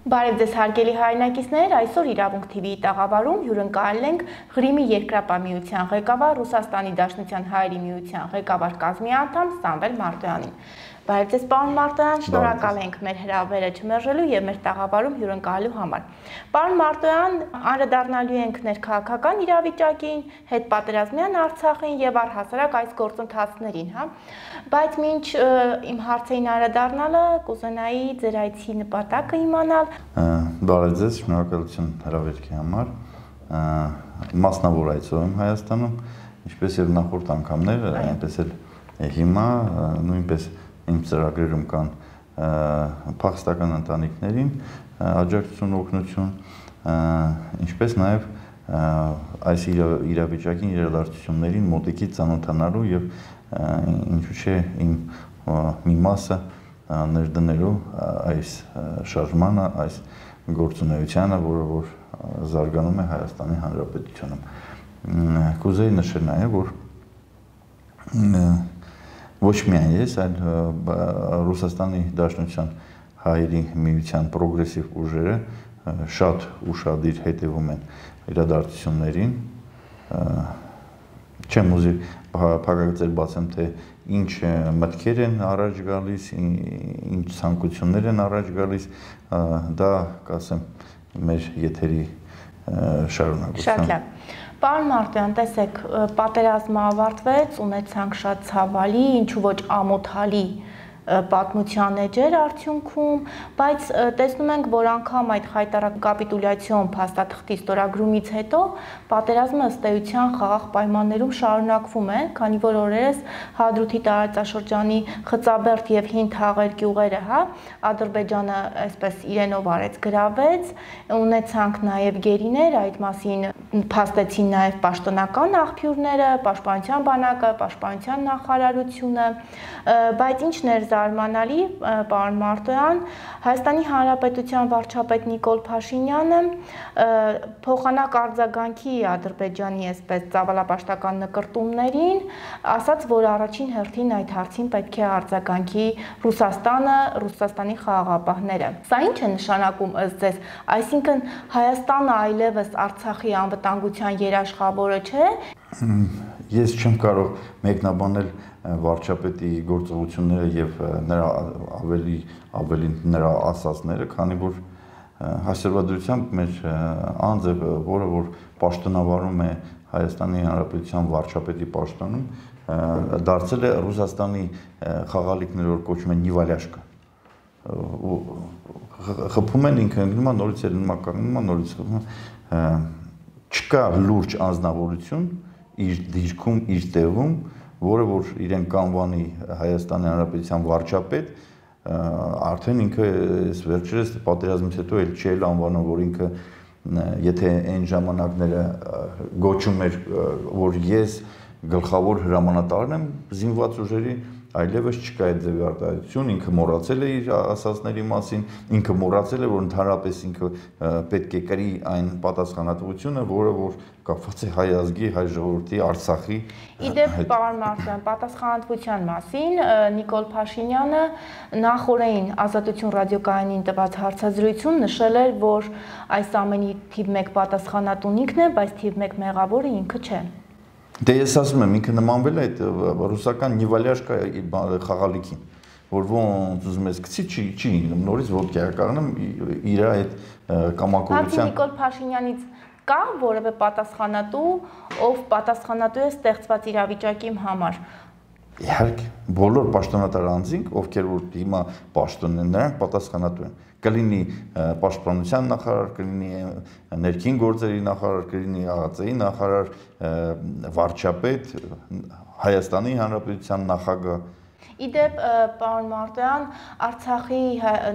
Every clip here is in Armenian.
Բարև ձեզ հարգելի հայրենակիցներ, այսօր Իրավունք TV-ի տաղավարում հյուրընկալել ենք Ղրիմի երկրապահ ղեկավար, Ռուսաստանի Դաշնության հայերի միության ղեկավար կազմի անդամ Սամվել Մարտոյանին։ Բարև ձեզ պարոն Մարտոյան, շնորհակալ ենք մեր հրավերը չմերժելու եւ մեր տաղավարում հյուրընկալելու համար։ Պարոն Մարտոյան, անդրադառնալու ենք ներքաղաքական իրավիճակին, հետպատերազմյան Արցախին եւ առհասարակ այս գործընթացներին, հա։ Բայց մինչ իմ հարցերին անդրադառնալը կուզենայի ձեր այցի նպատակը իմանալ։ Բարև ձեզ, շնորհակալություն հրավերքի համար։ Մասնավոր այցով եմ Հայաստանում, ինչպես եւ նախորդ անգամներ, այնպես էլ հիմա նույնպես իմ ծրագրերում կան փախստական ընտանիքներին աջակցություն, օգնություն, ինչպես նաև այս իրավիճակին իրադարձություններին մոտիկից ծանոթանալու եւ ինչու՞ չէ իմ մի մասը ներդնելու այս շարժմանը, այս գործունեությանը, որը որ զարգանում է Հայաստանի Հանրապետությունում։ Կուզեի նշել նաև, որ ոչ միայն ես, այլ Ռուսաստանի Դաշնության հայերի միության պրոգրեսիվ ուժերը շատ ուշադիր հետևում են իրադարձություններին։ Չեմ ուզի փակագծեր բացեմ, թե ինչ մտքեր են առաջ գալիս, ինչ ցանկություններ են առաջ գալիս, դա կասեմ մեր եթերի շարունակությամբ։ Շատ լավ։ Պարոն Մարտոյան, տեսեք, պատերազմը ավարտվեց, ունեցանք շատ ցավալի, ինչու ոչ ամոթալի պատմության էջեր արդյունքում, բայց տեսնում ենք, որ անգամ այդ խայտառակ կապիտուլյացիոն փաստաթղթի ստորագրումից հետո պատերազմը ըստ էության խաղաղ պայմաններում շարունակվում է, քանի որ օրերս Հադրութի տարածաշրջանի Խծաբերդ եւ Հին Թաղեր գյուղերը, հա, Ադրբեջանը այսպես իրենով արեց գրավեց, ունեցանք նաեւ գերիներ, այդ մասին փաստեցին նաեւ պաշտոնական աղբյուրները, Պաշտպանության բանակը, Պաշտպանության նախարարությունը, բայց ինչն էր զարմանալի, պարոն Մարտոյան, Հայաստանի Հանրապետության վարչապետ Նիկոլ Փաշինյանը փոխանակ արձագանքի Ադրբեջանի այսպես ծավալապաշտական նկրտումներին, ասաց, որ առաջին հերթին այդ հարցին պետք է արձագանքի Ռուսաստանը, Ռուսաստանի խաղաղապահները։ Սա ինչ է նշանակում ըստ ձեզ, այսինքն Հայաստանը այլևս Արցախի անվտանգության երաշխավորը չէ։ Ես չեմ կարող մեկնաբանել վարչապետի գործողությունները եւ նրա ավելի նրա ասածները, քանի որ հասարակությամբ մեր անձը, որը որ պաշտոնավարում է Հայաստանի Հանրապետության վարչապետի պաշտոնում, դարձել է Ռուսաստանի խաղալիքները, որ կոչվում են Նիվալյաշկա։ Խփում են ինքը ընկնում է նորից կանգնում է նորից չկա լուրջ անձնավորություն իր դիրքում, իր տեղում, որը որ իրեն կանվանի Հայաստանի Հանրապետության վարչապետ, արդեն ինքը վերջերս պատերազմից հետո էլ չի անվանում, որ ինքը եթե այն ժամանակները գոչում էր, որ ես գլխավոր հրամանատարն եմ զինված ուժերի, այլևս չկա այդ ձևի արտահայտություն, ինքը մոռացել է իր ասածների մասին, ինքը մոռացել է, որ ընդհանրապես ինքը պետք է կրի այն պատասխանատվությունը, որը որ կապված է հայ ազգի, հայ ժողովրդի, Արցախի։ Իդեպ, պարոն Մարտոյան, պատասխանատվության մասին Նիկոլ Փաշինյանը նախօրեին Ազատություն ռադիոկայանին տված հարցազրույցում նշել էր, որ այս ամենի թիվ 1 պատասխանատուն ինքն է, բայց թիվ 1 մեղավորը ինքը չէ։ Դե ես ասում եմ, ինքը նմանվել է այդ ռուսական Նիվալյաշկա խաղալիքին, որ ոնց ուզում ես գցի, չի ինգնում, նորից ոդկա կառնում իր այդ կամակորության։ Բացի Նիկոլ Փաշինյանից կա որևէ պատասխանատու, ով պատասխանատու է ստեղծված իրավիճակի համար։ Իհարկե, բոլոր պաշտոնատար անձինք, ովքեր որ հիմա պաշտոն են, նրանք պատասխանատու են։ Կլինի պաշտպանության նախարար, կլինի ներքին գործերի նախարար, կլինի ԱԱԾ-ի նախարար, վարչապետ, Հայաստանի Հանրապետության նախագահ։ Իդեպ, պարոն Մարտոյան, Արցախի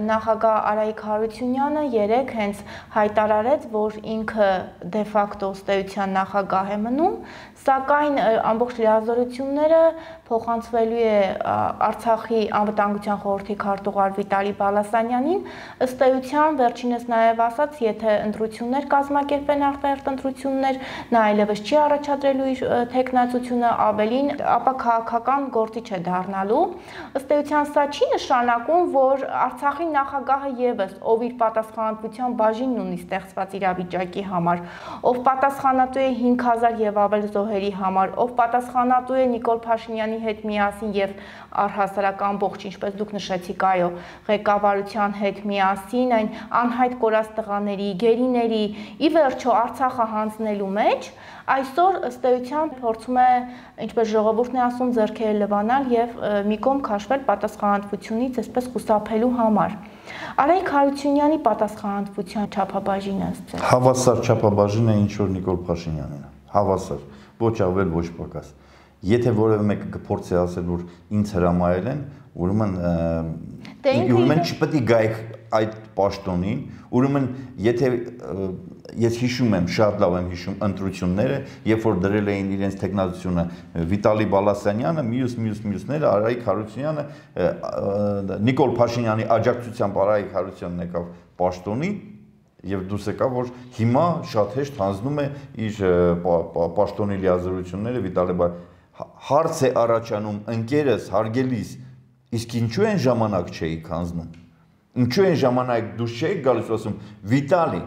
նախագահ Արայիկ Հարությունյանը երեկ հենց հայտարարեց, որ ինքը դե ֆակտո ըստ էության նախագահ է մնում, սակայն ամբողջ լիազորությունները փոխանցվելու է Արցախի անվտանգության խորհրդի քարտուղար Վիտալի Բալասանյանին, ըստ էության վերջինս նաև ասաց, եթե ընտրություններ կազմակերպեն արտահերթ ընտրություններ, նա այլևս չի առաջադրելու իր թեկնածությունը, ավելին, ապա քաղաքական գործիչ է դառնալու։ Ըստ էության սա չի նշանակում, որ Արցախի նախագահը ևս, ով իր պատասխանատվության բաժինն ունի ստեղծված իրավիճակի համար, ով պատասխանատու է 5000 եւ ավել զոհերի համար, ով պատասխանատու է Նիկոլ Փաշինյանի հետ միասին եւ առհասարակ ամբողջ, ինչպես դուք նշեցիք, այո, ղեկավարության հետ միասին այն անհայտ կորած տղաների, գերիների, ի վերջո Արցախը հանձնելու մեջ, այսօր ըստ էության փորձում է, ինչպես ժողովուրդն է ասում, ձեռքերը լվանալ եւ մի կողմ քաշվել պատասխանատվությունից, այսպես խուսափելու համար։ Արայիկ Հարությունյանի պատասխանատվության չափաբաժինը ըստ ձեզ։ Հավասար չափաբաժինը ինչ որ Նիկոլ Փաշինյանին է։ Հավասար, ոչ ավել, ոչ պակաս։ Եթե որևէ մեկը կփորձի ասել, որ ինձ հրամայել են, ուրեմն չպետք է գայք այդ պաշտոնին, ուրեմն եթե ես հիշում եմ, շատ լավ եմ հիշում ընտրությունները, երբ որ դրել էին իրենց տեխնացությունը Վիտալի Բալասանյանը, մյուսները, Արայիկ Հարությունյանը, Նիկոլ Փաշինյանի աջակցությամբ Արայիկ Հարությունյանն եկավ պաշտոնի եւ դուրս եկավ, որ հիմա շատ հեշտ հանձնում է իր պաշտոնի լիազորությունները Վիտալի հարց է առաջանում ընկերս, հարգելիս, իսկ ինչու են ժամանակ չէիք հանձնում։ Ինչու են ժամանակ դուրս չէիք գալիս ասում Վիտալի,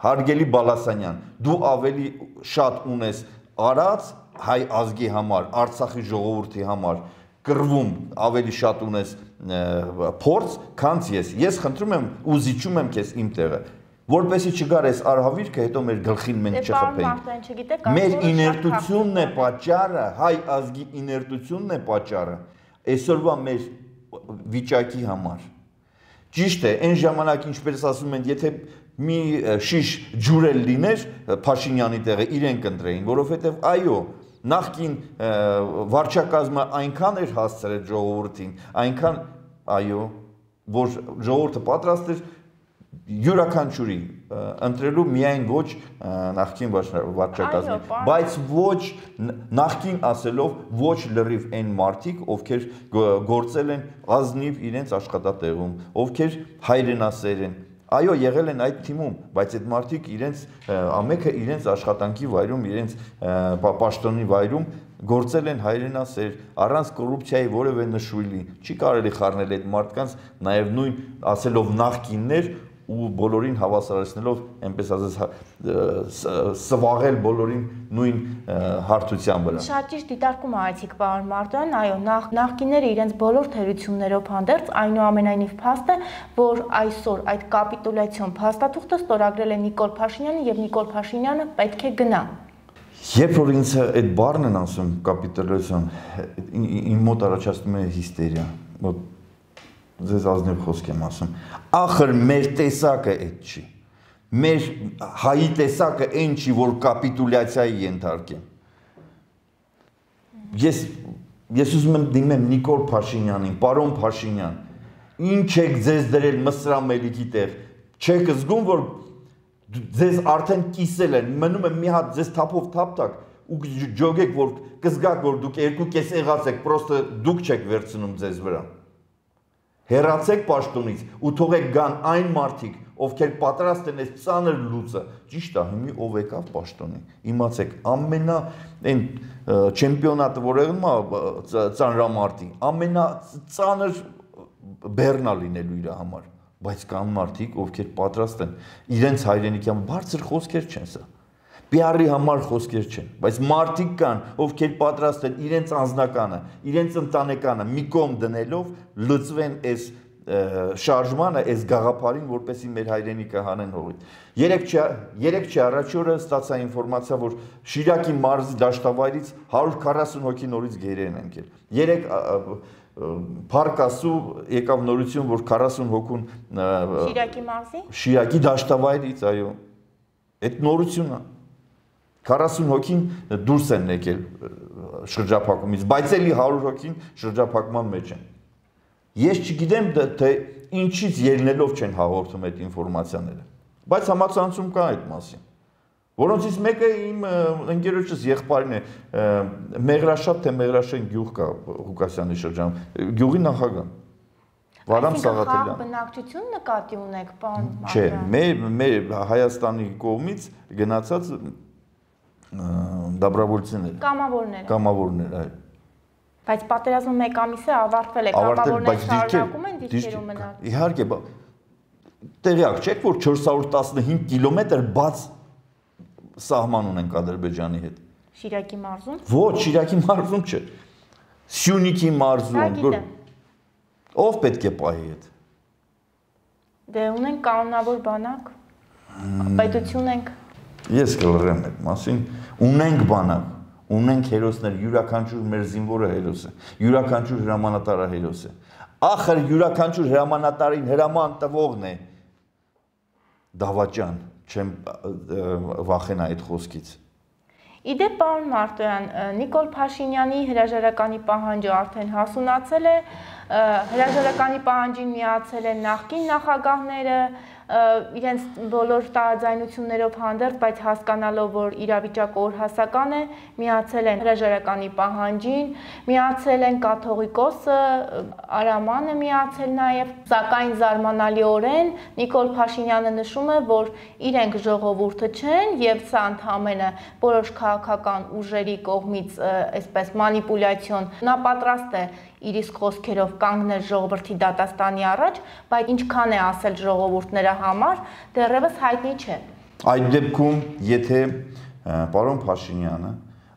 հարգելի Բալասանյան, դու ավելի շատ ունես արած հայ ազգի համար, Արցախի ժողովրդի համար, կռվում ավելի շատ ունես փորձ, քան ես։ Ես խնդրում եմ ու զիջում եմ քեզ իմ տեղը, որպեսզի չգար այս արհավիրքը, հետո մեր գլխին մենք չխփենք։ Մեր իներտությունն է պատճառը, հայ ազգի իներտությունն է պատճառը այսօրվա մեր վիճակի համար։ Ճիշտ է, այն ժամանակ ինչպես ասում են, եթե մի շիշ ջուր էլ լիներ Փաշինյանի տեղը իրեն կընտրեին, որովհետև այո, նախկին վարչակազմը այնքան էր հասցրել ժողովրդին, այնքան այո, որ ժողովուրդը պատրաստ էր յուրաքանչյուրի ընտրելու միայն ոչ նախկին վարչակազմի, բայց ոչ նախկին ասելով ոչ լրիվ այն մարդիկ, ովքեր գործել են ազնիվ իրենց աշխատատեղում, ովքեր հայրենասեր են, այո, եղել են այդ թիմում, բայց այդ մարդիկ իրենց ամենը իրենց աշխատանքի վայրում, իրենց պաշտոնի վայրում գործել են հայրենասեր, առանց կոռուպցիայի որևէ նշույլի, չի կարելի խառնել այդ մարդկանց, նաև նույն ասելով նախկիններ ու բոլորին հավասարեցնելով, այնպես ասած, սվաղել բոլորին նույն հարթության վրա։ Շատ ճիշտ դիտարկում արեցիք, պարոն Մարտոյան, այո, նախկինները իրենց բոլոր թերություններով հանդերձ, այնուամենայնիվ փաստ է, որ այսօր այդ կապիտուլյացիոն փաստաթուղթը ստորագրել է Նիկոլ Փաշինյանը եւ Նիկոլ Փաշինյանը պետք է գնա։ Երբ որ ինձ այդ բառն են ասում կապիտուլյացիոն, իմ մոտ առաջացնում է հիստերիա։ Ձեզ ազնիվ խոսք եմ ասում, ախր մեր տեսակը այդ չի, մեր հայի տեսակը այն չի, որ կապիտուլյացիայի ենթարկեն։ Ես ուզում եմ դիմեմ Նիկոլ Փաշինյանին, պարոն Փաշինյան, ինչ եք ձեզ դրել Մսրամելիքի տեղ, չեք զգում, որ ձեզ արդեն կիսել են, մնում է մի հատ ձեզ թափով թափ ու ջոգեք, որ կզգաք, որ դուք երկու կես եղած եք, պրոստը դուք չեք վերցնում ձեզ վրա։ Հեռացեք պաշտոնից ու թողեք գան այն մարդիկ, ովքեր պատրաստ են այս ծանր լուծը, ճիշտ է, հիմի ով եկավ պաշտոնի, իմացեք, ամենա այն չեմպիոնատը, որ եղնում է ծանրամարտի, ամենածանր բեռնա լինելու իր համար, բայց կան մարդիկ, ովքեր պատրաստ են իրենց հայրենիքի համար, բարձր խոսքեր չեն սա, PR-ի համար խոսքեր չեն, բայց մարդիկ կան, ովքեր պատրաստ են իրենց անձնականը, իրենց ընտանեկանը մի կողմ դնելով լծվեն այս շարժմանը, այս գաղափարին, որպեսզի մեր հայրենիքը հանեն հողից։ Երեք չի առաջ օրը ստացա ինֆորմացիա, որ Շիրակի մարզի դաշտավայրից 140 հոգի նորից գերի են ընկել։ Երեք Փառք Աստծո եկավ նորություն, որ 40 հոգուն Շիրակի մարզի? Շիրակի դաշտավայրից, այո։ Այդ նորությունն է։ 40 հոգին դուրս են եկել շրջափակումից, բայց էլի 100 հոգին շրջափակման մեջ են։ Ես չգիտեմ, թե ինչից ելնելով չեն հաղորդում այդ ինֆորմացիաները, բայց համացանցում կա այդ մասին։ Որոնցից մեկը իմ ընկերոջս եղբայրն է, Մեղրաշատ թե Մեղրաշեն գյուղ կա Ղուկասյանի շրջանում, գյուղի նախագահ Վարամ Սաղաթելյան։ Բնակչություն նկատի ունեք, պարոն Մարտոյան։ Չէ, մեր Հայաստանի կողմից գնացած դաբրավոլցիներ։ Կամավորներ, այո։ Բայց պատերազմը 1 ամիս է ավարտվել է, կամավորները շարունակում են դիրքերում մնալ։ Իհարկե, տեղյակ չեք, որ 415 կիլոմետր բաց սահման ունենք Ադրբեջանի հետ։ Շիրակի մարզում։ Ոչ, Շիրակի մարզում չէ։ Սյունիքի մարզում։ Ով պետք է պահի հետ։ Դե ունենք կանոնավոր բանակ, պետություն ենք։ Ես կլրեմ այդ մասին, ունենք բանակ, ունենք հերոսներ, յուրաքանչյուր մեր զինվորը հերոս է, յուրաքանչյուր հրամանատարը հերոս է։ Ախր յուրաքանչյուր հրամանատարին հրաման տվողն է դավաճան, չեմ վախենա այդ խոսքից։ Իդեպ, պարոն Մարտոյան, Նիկոլ Փաշինյանի հրաժարականի պահանջը արդեն հասունացել է, հրաժարականի պահանջին միացել են նախկին նախագահները, իրենց բոլոր տարաձայնություններով հանդերձ, բայց հասկանալով, որ իրավիճակը օրհասական է, միացել են հրաժարականի պահանջին, միացել են կաթողիկոսը, Արամանը միացել նաև, սակայն զարմանալիորեն Նիկոլ Փաշինյանը նշում է, որ իրենք ժողովուրդը չեն եւ սա ընդհանրապես որոշ քաղաքական ուժերի կողմից այսպես մանիպուլյացիոն, նա պատրաստ է իր իսկ խոսքերով կանգնել ժողովրդի դատաստանի առաջ, բայց ինչքան է ասել ժողովուրդները համար, դեռևս հայտնի չէ։ Այդ դեպքում, եթե պարոն Փաշինյանը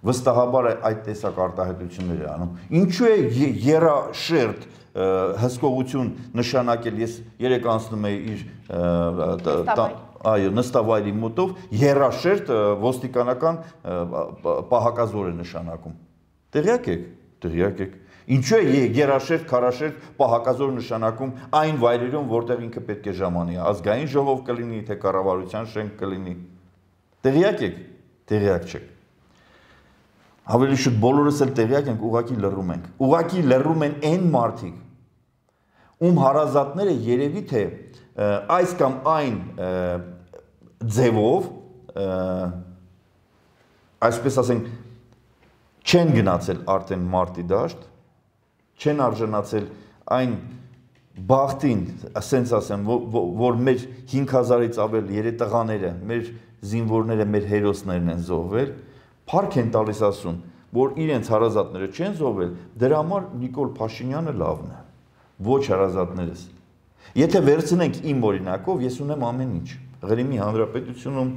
վստահաբար այդ տեսակ արտահայտություններ է անում, ինչու է երաշերտ հսկողություն նշանակել, ես երեք անցնում էի իր նստավայրի մոտով, երաշերտ ոստիկանական պահակազոր է նշանակում։ Տեղյակ եք, տեղյակ եք։ Ինչու է երաշերտ, քարաշերտ պահակազոր նշանակում այն վայրերում, որտեղ ինքը պետք է ժամանի, ազգային ժողով կլինի, թե կառավարության շենք կլինի։ Տեղյակ եք, տեղյակ չեք։ Ավելի շուտ բոլորս էլ տեղյակ ենք, ուղղակի լռում ենք։ Ուղղակի լռում են այն մարդիկ, ում հարազատները երևի թե այս կամ այն ձևով, այսպես ասենք, չեն գնացել արդեն մարտի դաշտ, չեն արժանացել այն բախտին, ասենց ասեմ, որ մեր 5000-ից ավել երետղաները, մեր զինվորները, մեր հերոսներն են զոհվել, փառք են տալիս ասում, որ իրենց հարազատները չեն զոհվել, դրա համար Նիկոլ Փաշինյանը լավն է, ոչ հարազատներս։ Եթե վերցնենք իմ օրինակով, ես ունեմ ամեն ինչ, Ղրիմի Հանրապետությունում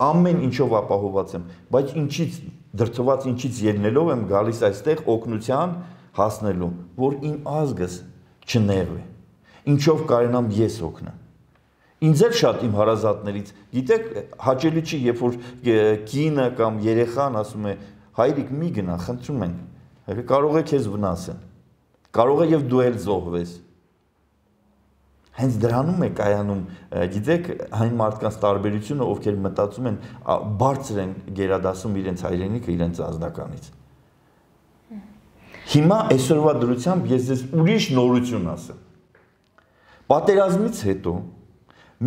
ամեն ինչով ապահոված եմ, բայց ինչից դրդված ինչից ելնելով եմ գալիս այստեղ օգնության հասնելու, որ իմ ազգս չնեղվի, ինչով կարենամ ես օգնեմ։ Ինձ էլ շատ իմ հարազատներից, գիտեք, հաճելի չի, երբ որ կինը կամ երեխան ասում է, հայրիկ մի գնա, խնդրում ենք, կարող է քեզ վնասեն, կարող է եւ դու էլ զոհվես։ Հենց դրանում է կայանում, գիտեք, այն մարդկանց տարբերությունը, ովքեր մտածում են, բարձր են գերադասում իրենց հայրենիքը իրենց ազնականից։ Հիմա այսօրվա դրությամբ ես ձեզ ուրիշ նորություն ասեմ։ Պատերազմից հետո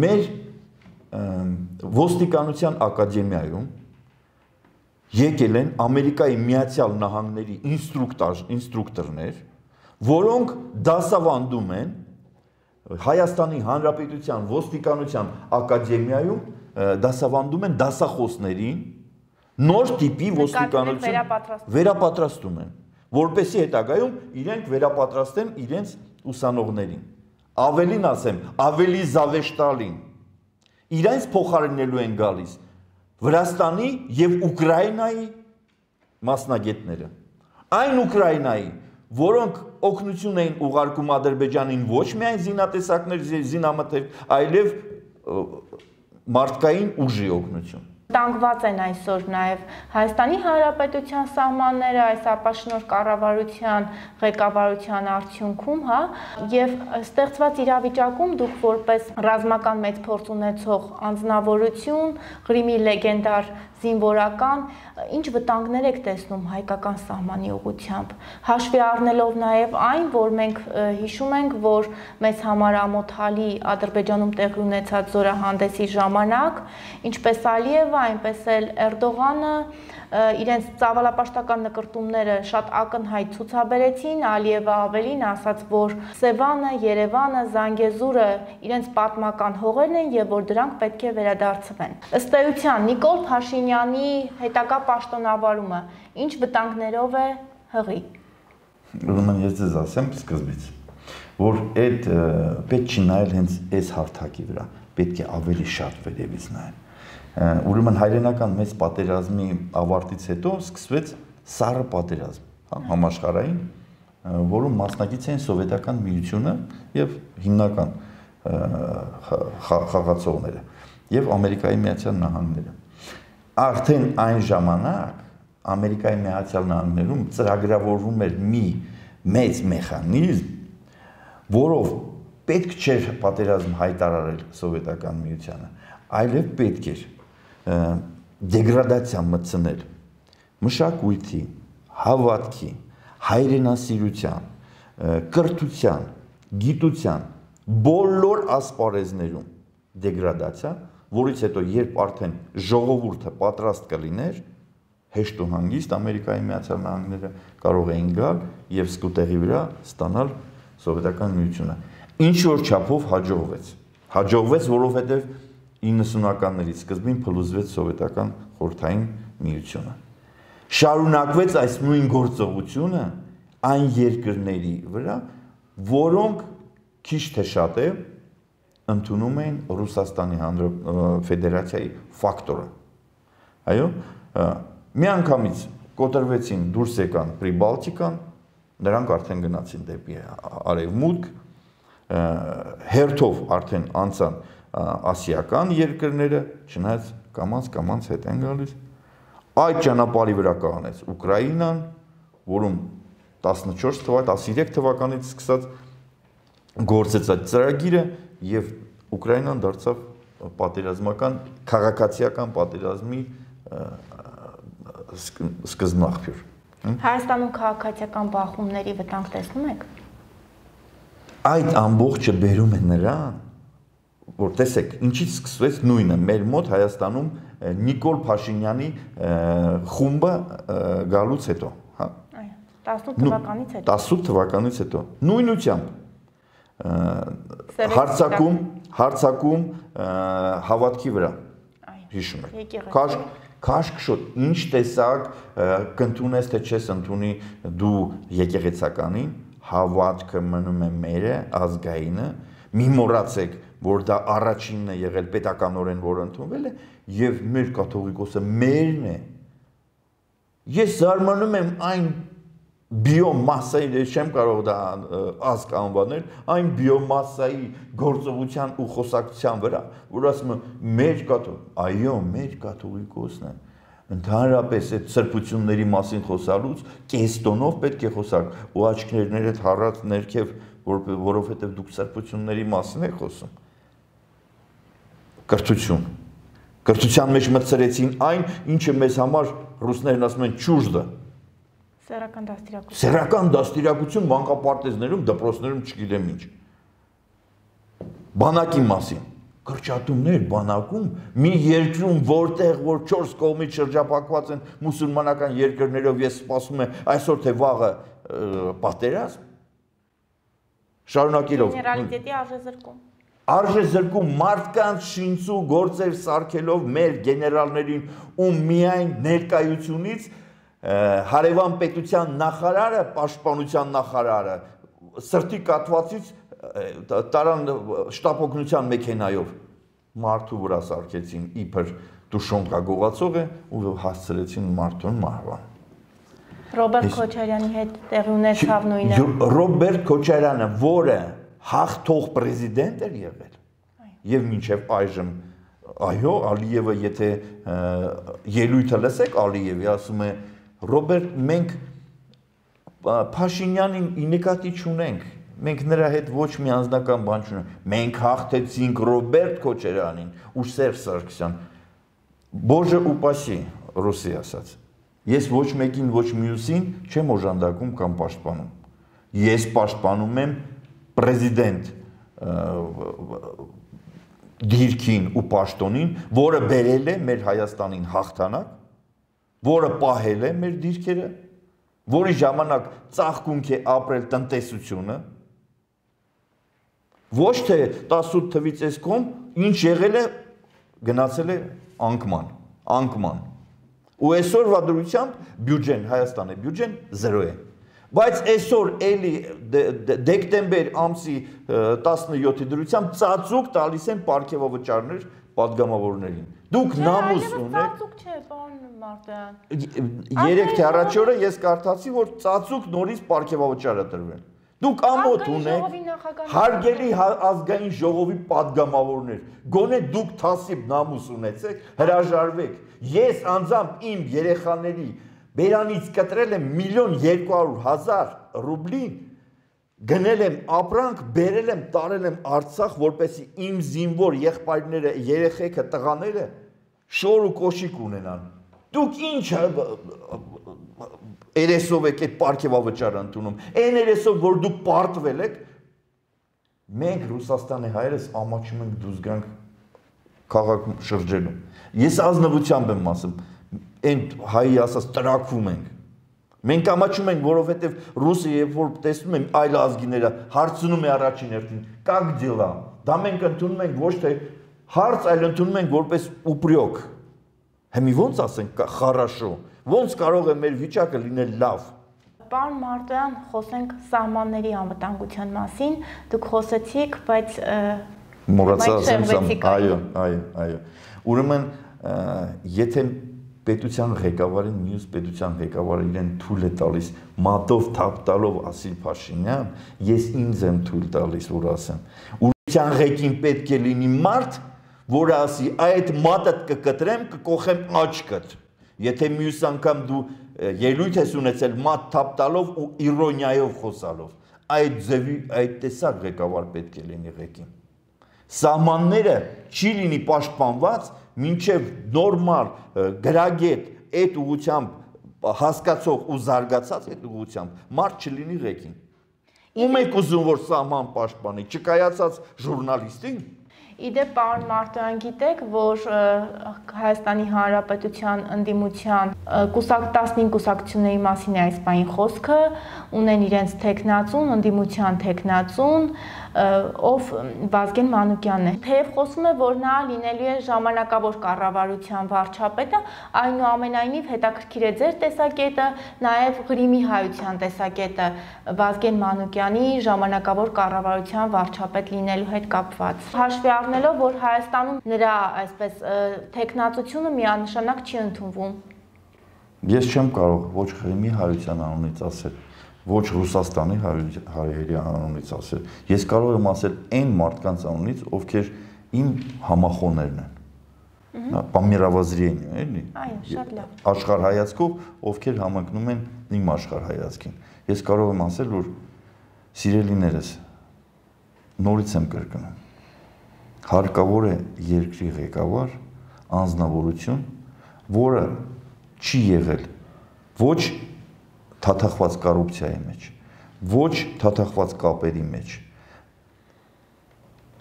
մեր ոստիկանության ակադեմիայում եկել են Ամերիկայի Միացյալ Նահանգների ինստրուկտորներ, որոնք դասավանդում են Հայաստանի Հանրապետության ոստիկանության ակադեմիայում դասավանդում են դասախոսներին նոր տիպի ոստիկանություն վերապատրաստում են, որպեսզի հետագայում իրենք վերապատրաստեն իրենց ուսանողներին։ Ավելին ասեմ, ավելի զավեշտալին, իրենց փոխարինելու են գալիս Վրաստանի եւ Ուկրաինայի մասնագետները։ Այն Ուկրաինայի, որոնք օգնություն էին ուղարկում Ադրբեջանին ոչ միայն զինատեսակներ, զինամթեր, այլև մարդկային ուժի օգնություն։ Տանգված են այսօր նաև Հայաստանի Հանրապետության սահմանները այս ապաշնորհ կառավարության ղեկավարության արդյունքում, հա, եւ ստեղծված իրավիճակում դուք որպես ռազմական մեծ փորձ ունեցող անձնավորություն, Ղրիմի լեգենդար զինվորական, ինչ վտանգներ եք տեսնում հայկական սահմանի ուղղությամբ, հաշվի առնելով նաև այն, որ մենք հիշում ենք, որ մեզ համար ամոթալի Ադրբեջանում տեղի ունեցած զորահանդեսի ժամանակ, ինչպես Ալիևը, այնպես էլ Էրդողանը իրենց ծավալապաշտական նկրտումները շատ ակնհայտ ցուցաբերեցին, Ալիևը ավելին ասաց, որ Սևանը, Երևանը, Զանգեզուրը իրենց պատմական հողերն են եւ որ դրանք պետք է վերադարձվեն։ Ըստ էության Նիկոլ Փաշինյանի հետագա պաշտոնավարումը ինչ վտանգներով է հղի։ Ուրեմն ես ձեզ ասեմ սկզբից, որ այդ պետք չի նայել հենց այս հարթակի վրա, պետք է ավելի շատ վերևից նայել։ Ուրեմն հայրենական մեծ պատերազմի ավարտից հետո սկսվեց սառը պատերազմ, համաշխարհային, որում մասնակից էին Սովետական Միությունը եւ հիմնական խաղացողները եւ Ամերիկայի Միացյալ Նահանգները։ Արդեն այն ժամանակ Ամերիկայի Միացյալ Նահանգներում ծրագրավորվում էր մի մեծ մեխանիզմ, որով պետք չէր պատերազմ հայտարարել Սովետական Միությանը, այլև պետք էր դեգրադացիա մտցնել մշակույթի, հավատքի, հայրենասիրության, կրթության, գիտության, բոլոր ասպարեզներում դեգրադացիա, որից հետո երբ արդեն ժողովուրդը պատրաստ կլիներ, հեշտ ու հանգիստ Ամերիկայի Միացյալ Նահանգները կարող էին գալ եւ սկուտեղի վրա ստանալ Սովետական Միությունը։ Ինչ որ չափով հաջողվեց, որովհետեւ 90-ականներից սկզբին փլուզվեց Սովետական խորհրդային միությունը։ Շարունակվեց այս նույն գործողությունը այն երկրների վրա, որոնք քիչ թե շատ է ընդունում էին Ռուսաստանի Ֆեդերացիայի ֆակտորը։ Այո, միանգամից կոտրվեցին, դուրս եկան Պրիբալտիկան, նրանք արդեն գնացին դեպի արևմուտք, հերթով արդեն անցան ասիական երկրները, չնայած կամաց հետ են գալիս, այդ ճանապարհի վրա կանեց Ուկրաինան, որում 13 թվականից սկսած գործեց այդ ծրագիրը եւ Ուկրաինան դարձավ պատերազմական քաղաքացիական պատերազմի սկզբնաղբյուր։ Հայաստանում քաղաքացիական բախումների վտանգ տեսնում եք։ Այդ ամբողջը բերում է նրան, որ տեսեք, ինչից սկսվեց նույնը մեր մոտ Հայաստանում Նիկոլ Փաշինյանի խումբը գալուց հետո, հա։ Այո, 18 թվականից հետո։ Նույնությամբ հարցակում հավատքի վրա, հիշում եք, քաշքշոտ, ինչ տեսակ կընդունես թե չես ընդունի դու եկեղեցականին, հավատքը մնում է մերը, ազգայինը, մի մոռացեք, որ դա առաջինն է եղել պետականորեն, որ ընդունվել է, եւ մեր կաթողիկոսը մերն է։ Ես զարմանում եմ այն բիոմասայի, չեմ կարող դա ազգ անվանել, այն բիոմասայի գործողության ու խոսակցության վրա, որ ասում է մեր այո, մեր կաթողիկոսն է։ Ընդհանրապես այդ սրբությունների մասին խոսալուց կես տոնով պետք է խոսալ ու աչքներդ հառած ներքև, որովհետև դուք սրբությունների մասին եք խոսում։ Կրթության մեջ մտցրեցին այն, ինչը մեզ համար ռուսներն ասում են ճուժդը։ Սեռական դաստիարակություն մանկապարտեզներում, դպրոցներում չգիտեմ ինչ։ Բանակի մասին։ Կրճատումներ բանակում մի երկրում, որտեղ որ 4 կողմից շրջապակված են մուսուլմանական երկրներով, ես սպասում եմ այսօր թե վաղը պատերազմ։ Շարունակելով։ Գեներալիտետի արժեզրկում։ Արժեզրկում մարդկանց շինծու գործեր սարքելով մեր գեներալներին ու միայն ներկայությունից հարևան պետության նախարարը, պաշտպանության նախարարը սրտի կատվածից տարան շտապօգնության մեքենայով մարդու վրա սարքեցին իբր դուշոնկա գողացող է ու հասցրեցին մարդուն մահվան։ Ռոբերտ Քոչարյանի հետ տեղի ունեցավ նույնը։ Ռոբերտ Քոչարյանը, որը հաղթող պրեզիդենտ էր եղել եւ մինչեւ այժմ Այո, Ալիևը, եթե ելույթը լսեք Ալիևի, ասում է Ռոբերտ, մենք Փաշինյանին նկատի չունենք, մենք նրա հետ ոչ մի անձնական բան չունենք, մենք հաղթեցինք Ռոբերտ Քոչարյանին ու Սերժ Սարգսյան, Բոժը ուպասի, ռուսի ասած, ես ոչ մեկին, ոչ մյուսին չեմ օժանդակում կամ պաշտպանում, ես պաշտպանում եմ պրեզիդենտ դիրքին ու պաշտոնին, որը բերել է մեր Հայաստանին հաղթանակ, որը պահել է մեր դիրքերը, որի ժամանակ ծաղկունք է ապրել տնտեսությունը, ոչ թե 18 թվից այս կողմ, ինչ եղել է, գնացել է անկման, ու այսօրվա դրությամբ բյուջեն, Հայաստանի բյուջեն 0 է, բայց այսօր էլի դեկտեմբեր ամսի 17-ի դրությամբ ծածուկ տալիս են պարգևավճարներ պատգամավորներին, դուք նամուս ունեք, ծածուկ չէ, պարոն Մարտոյան, 3 թե առաջ օրը ես կարդացի, որ ծածուկ նորից պարգևավճար է տրվել, դուք ամոթ ունեք, հարգելի ազգային ժողովի պատգամավորներ, գոնե դուք թասիբ նամուս ունեցեք, հրաժարվեք, ես անձամբ իմ երեխաների բերանից կտրել եմ 1.200.000 ռուբլի, գնել եմ ապրանք, բերել եմ, տարել եմ Արցախ, որպեսզի իմ զինվոր եղբայրները, երեխեքը, տղաները շոր ու կոշիկ ունենան, դուք ինչ երեսով եք այդ պարգևավճարը ընդունում, այն երեսով, որ դուք պարտվել եք, մենք Ռուսաստանի հայերս ամաչում ենք դուրս գանք քաղաքում շրջելու, ես ազնվությամբ եմ ասում, այն հայի ասած տրակվում ենք, մենք ամաչում ենք, որովհետև Ռուսը երբ որ տեսնում են այլ ազգիները, հարցնում է առաջին հերթին, «Как дела», դա մենք ընդունում ենք ոչ թե հարց, այլ ընդունում ենք որպես ուպրյոկ, Հիմի ոնց ասենք «Խառաշո», ոնց կարող է մեր վիճակը լինել լավ։ Պարոն Մարտոյան, խոսենք սահմանների անվտանգության մասին, դուք խոսեցիք, բայց մոռացա, այո։ Ուրեմն, եթե պետության ղեկավարին, մյուս պետության ղեկավարը իրեն թույլ է տալիս մատով թափ տալով ասի Փաշինյան, ես ինձ եմ թույլ տալիս, որ ասեմ։ Պետության ղեկին պետք է լինի մարդ, որը ասի, այդ մատդ կկտրեմ, կկոխեմ աչքդ։ Եթե մյուս անգամ դու ելույթ ես ունեցել մատ թափ տալով ու իրոնիայով խոսալով, այդ ձևի, այդ տեսակ ղեկավար պետք է լինի ղեկին։ Սահմանները չի լինի պաշտպանված, մինչև նորմալ գրագետ այդ ուղղությամբ հասկացող ու զարգացած այդ ուղղությամբ մարդ չլինի ղեկին։ Ում եք ուզում, որ սահման պաշտպանի, չկայացած ժուրնալիստին։ Իդեպ, պարոն Մարտոյան, գիտեք, որ Հայաստանի Հանրապետության ընդդիմության 15 կուսակցությունների մասին է այս բային խոսքը, ունեն իրենց թեկնածուն, ընդդիմության թեկնածուն, ով Վազգեն Մանուկյանն է։ Թեև խոսվում է, որ նա լինելու է ժամանակավոր կառավարության վարչապետը, այնուամենայնիվ հետաքրքիր է ձեր տեսակետը, նաև Ղրիմի հայության տեսակետը Վազգեն Մանուկյանի ժամանակավոր կառավարության վարչապետ լինելու հետ կապված։ Հաշվի առնելով, որ Հայաստանում նրա այսպես թեկնածությունը միանշանակ չի ընդունվում։ Ես չեմ կարող ոչ Ղրիմի հայության անունից ասել, ոչ Ռուսաստանի հայերի անունից ասել։ Ես կարող եմ ասել այն մարդկանց անունից, ովքեր իմ համախոհներն են։ Պամիրավազրիեն, էլի։ Այո, շատ լավ։ Աշխարհայացքով, ովքեր համընկնում են իմ աշխարհայացքին։ Ես կարող եմ ասել, որ սիրելիներս, նորից եմ կրկնում, հարկավոր է երկրի ղեկավար, անձնավորություն, որը չի եղել ոչ թաթախված կոռուպցիայի մեջ, ոչ թաթախված կապերի մեջ,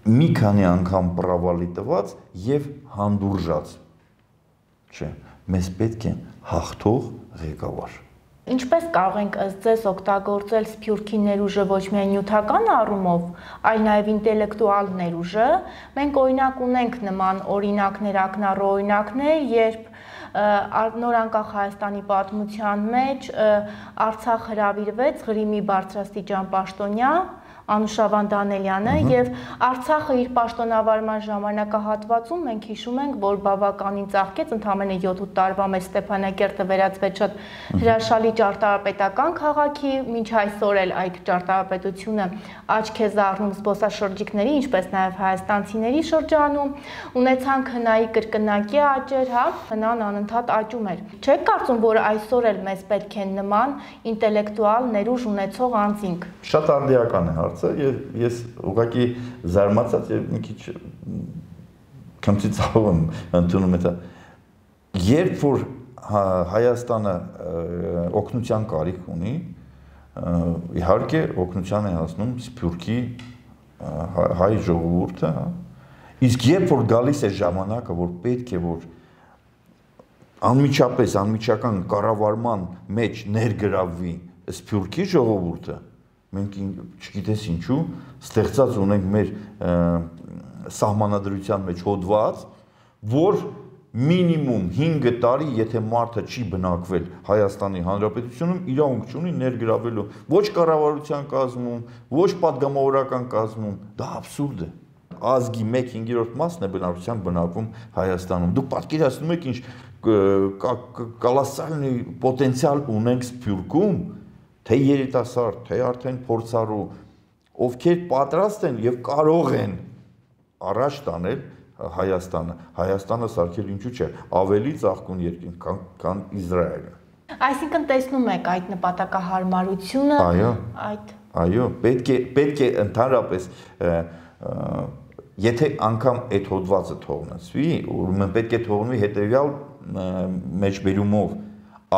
մի քանի անգամ պրավալի տված եւ հանդուրժած, չէ, մեզ պետք է հաղթող ղեկավար։ Ինչպես կարող ենք ըստ ձեզ օգտագործել Սփյուռքի ներուժը ոչ միայն նյութական առումով, այլ նաև ինտելեկտուալ ներուժը։ Մենք օրինակ ունենք նման օրինակներ, ակնառու օրինակներ, երբ նորանկախ Հայաստանի պատմության մեջ Արցախ հրավիրվեց Ղրիմի բարձրաստիճան պաշտոնյա, Անուշավան Դանելյանը եւ Արցախը իր պաշտոնավարման ժամանակահատվածում մենք հիշում ենք, որ բավականին ծաղկեց, ընդամենը 7-8 տարվա մեջ Ստեփանակերտը վերածվեց շատ հրաշալի ճարտարապետական քաղաքի, մինչ այսօր էլ այդ ճարտարապետությունը աչք է զարնում զբոսաշրջիկների, ինչպես նաեւ հայաստանցիների շրջանում, ունեցանք հնայի կրկնակի աճեր, հա, հնան անընդհատ աճում էր։ Չեք կարծում, որ այսօր էլ մեզ պետք է նման ինտելեկտուալ ներուժ ունեցող անձինք։ Շատ արդիական է հարցը, ես ուղղակի զարմացած եւ մի քիչ քմծիծաղով եմ ընդունում դա։ Երբ որ Հայաստանը օգնության կարիք ունի, իհարկե օգնության է հասնում Սփյուռքի հայ ժողովուրդը, իսկ երբ որ գալիս է ժամանակը, որ պետք է որ անմիջապես անմիջական կառավարման մեջ ներգրավվի Սփյուռքի ժողովուրդը, մենք չգիտես ինչու ստեղծած ունենք մեր սահմանադրության մեջ հոդված, որ մինիմում 5 տարի, եթե մարդը չի բնակվել Հայաստանի Հանրապետությունում, իրավունք չունի ներգրավելու ոչ կառավարության կազմում, ոչ պատգամավորական կազմում, դա աբսուրդ է։ Ազգի 1/5 մասն է բնակության բնակվում Հայաստանում։ Դուք պատկերացնում եք ինչ կոլոսալնի պոտենցիալ ունենք Սփյուռքում, թե երիտասարդ, թե արդեն փորձառու, ովքեր պատրաստ են եւ կարող են առաջ տանել Հայաստանը սարքել ինչու՞ չէ, ավելի ծաղկուն երկիր, քան Իսրայելը։ Այսինքն տեսնում եք այդ նպատակահարմարությունը, Այո, պետք է ընդհանրապես եթե անգամ այդ հոդվածը թողնեցվի, ուրեմն պետք է թողնվի հետեւյալ մեջբերումով,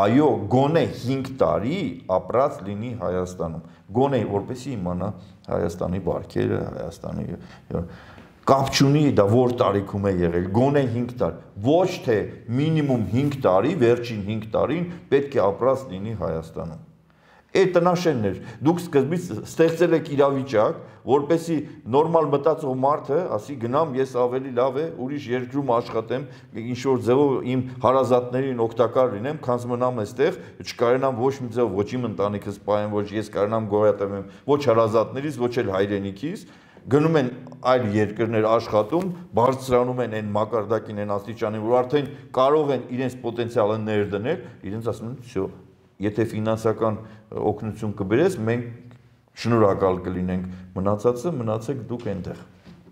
այո, գոնե 5 տարի ապրած լինի Հայաստանում, գոնե որպեսզի իմանա Հայաստանի բարքերը, Հայաստանի կապ չունի դա որ տարիքում է եղել, գոնե 5 տարի, ոչ թե մինիմում 5 տարի, վերջին 5 տարին պետք է ապրած լինի Հայաստանում։ Այդ տնաշենն էր, դուք սկզբից ստեղծել եք իրավիճակ, որպեսզի նորմալ մտածող մարդը ասի գնամ ես ավելի լավ է ուրիշ երկրում աշխատեմ, ինչ որ ձևով իմ հարազատներին օգտակար լինեմ, քան մնամ այստեղ, չկարենամ ոչ մի ձև ոչ իմ ընտանիքս պահեմ, ոչ ես կարենամ գոյատևեմ, ոչ հարազատներից, ոչ էլ հայրենիքիս, գնում են այլ երկրներ աշխատում, բարձրանում են այն մակարդակին, այն աստիճանին, որ արդեն կարող են իրենց պոտենցիալը ներդնել, իրենց ասում են, «Всё, եթե ֆինանսական օգնություն կբերես, մենք շնորհակալ կլինենք, մնացածը մնացեք դուք այնտեղ»։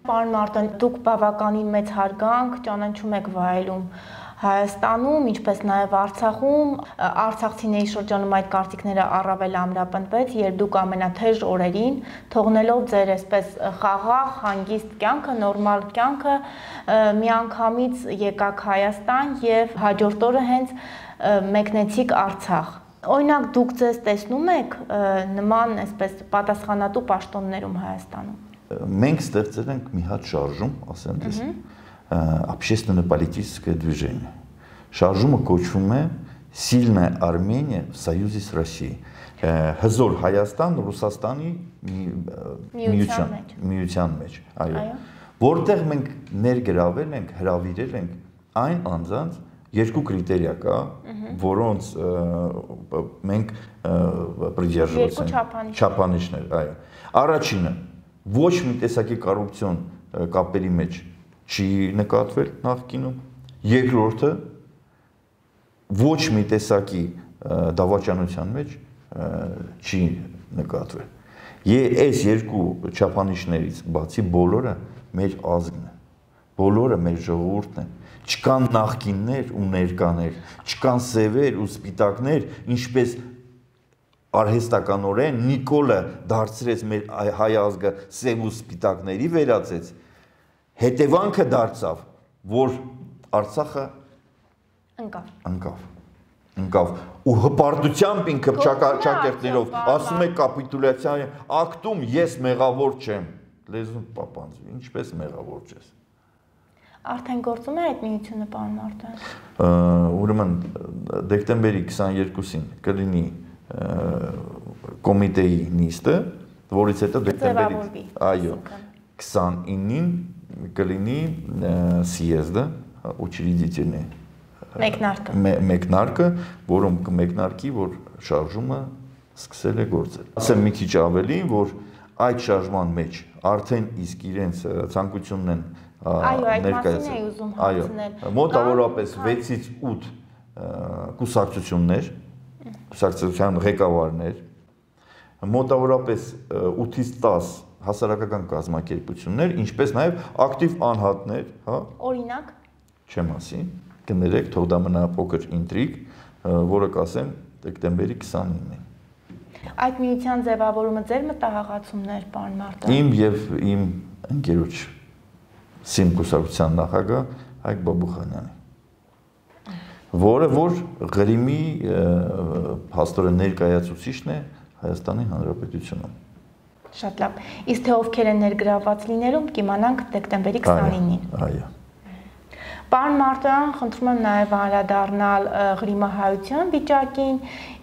Պարոն Մարտոն, դուք բավականին մեծ հարգանք ճանաչում եք վայելում Հայաստանում, ինչպես նաև Արցախում, արցախցիների շրջանում այդ կարծիքները առավել ամրապնդվեց, երբ դուք ամենաթեժ օրերին, թողնելով ձեր այսպես խաղաղ, հանգիստ կյանքը, նորմալ կյանքը, միանգամից եկաք Հայաստան եւ հաջորդ օրը հենց մեկնեցիք Արցախ։ Օրինակ դուք ձեզ տեսնում եք նման այսպես պատասխանատու պաշտոններում Հայաստանում։ Մենք ստեղծել ենք մի հատ շարժում, ասեմ դες, общественно-политическое движение. Շարժումը կոչվում է Сильная Армения в союзе с Россией. Հզոր Հայաստան Ռուսաստանի միության մեջ, այո։ Որտեղ մենք ներգրավել ենք, հրավիրել ենք այն անձանց երկու կրիտերիա կա, որոնց մենք պրիդерживаться ենք, չափանիշներ, այո։ Առաջինը ոչ մի տեսակի կոռուպցիոն կապերի մեջ չի նկատվել նախկինում, երկրորդը ոչ մի տեսակի դավաճանության մեջ չի նկատվել։ Այս երկու չափանիշներից բացի բոլորը մեր ազգն է, բոլորը մեր ժողովուրդն է, չկան նախկիններ ու ներկաներ, չկան սևեր ու սպիտակներ, ինչպես արհեստականորեն Նիկոլը դարձրեց մեր հայ ազգը սև ու սպիտակների վերածեց, հետևանքը դարձավ, որ Արցախը ընկավ ու հպարտությամբ ինքը ճակերտներով ասում է կապիտուլյացիայի ակտում ես մեղավոր չեմ, լեզուն պապանձվի, ինչպես մեղավոր չես։ Արդեն գործում է այդ միությունը, պարոն Մարտոյան։ Ուրեմն դեկտեմբերի 22-ին կլինի կոմիտեի նիստը, որից հետո դեկտեմբերի, այո, 29-ին կլինի съезда учредительный մեկնարկը, որում կմեկնարկի, որ շարժումը սկսել է գործել։ Ասեմ մի քիչ ավելի, որ այդ շարժման մեջ արդեն իսկ իրենց ցանկությունն են ներկայացնում։ Այո, մոտավորապես 6-ից 8 կուսակցություններ, կուսակցության ղեկավարներ, մոտավորապես 8-ից 10 հասարակական կազմակերպություններ, ինչպես նաև ակտիվ անհատներ, հա։ Օրինակ, չեմ ասի, կներեք, թող դա մնա փոքր ինտրիգ, որը կասեմ դեկտեմբերի 29-ին։ Այդ միության ձևավորումը ձեր մտահղացումներ, պարոն Մարտիրոսյան։ Իմ եւ իմ ընկերոջ Սիմ կուսակցության նախագահ Հայկ Բաբուխանյանի, որը որ Ղրիմի փաստորեն ներկայացուցիչն է Հայաստանի Հանրապետությունում։ Շատ լավ։ Իսկ թե ովքեր են ներգրավված լինելում, կիմանանք դեկտեմբերի 29-ին։ Այո։ Պարոն Մարտիրոսյան, խնդրում եմ նաև անդրադառնալ Ղրիմահայության վիճակին,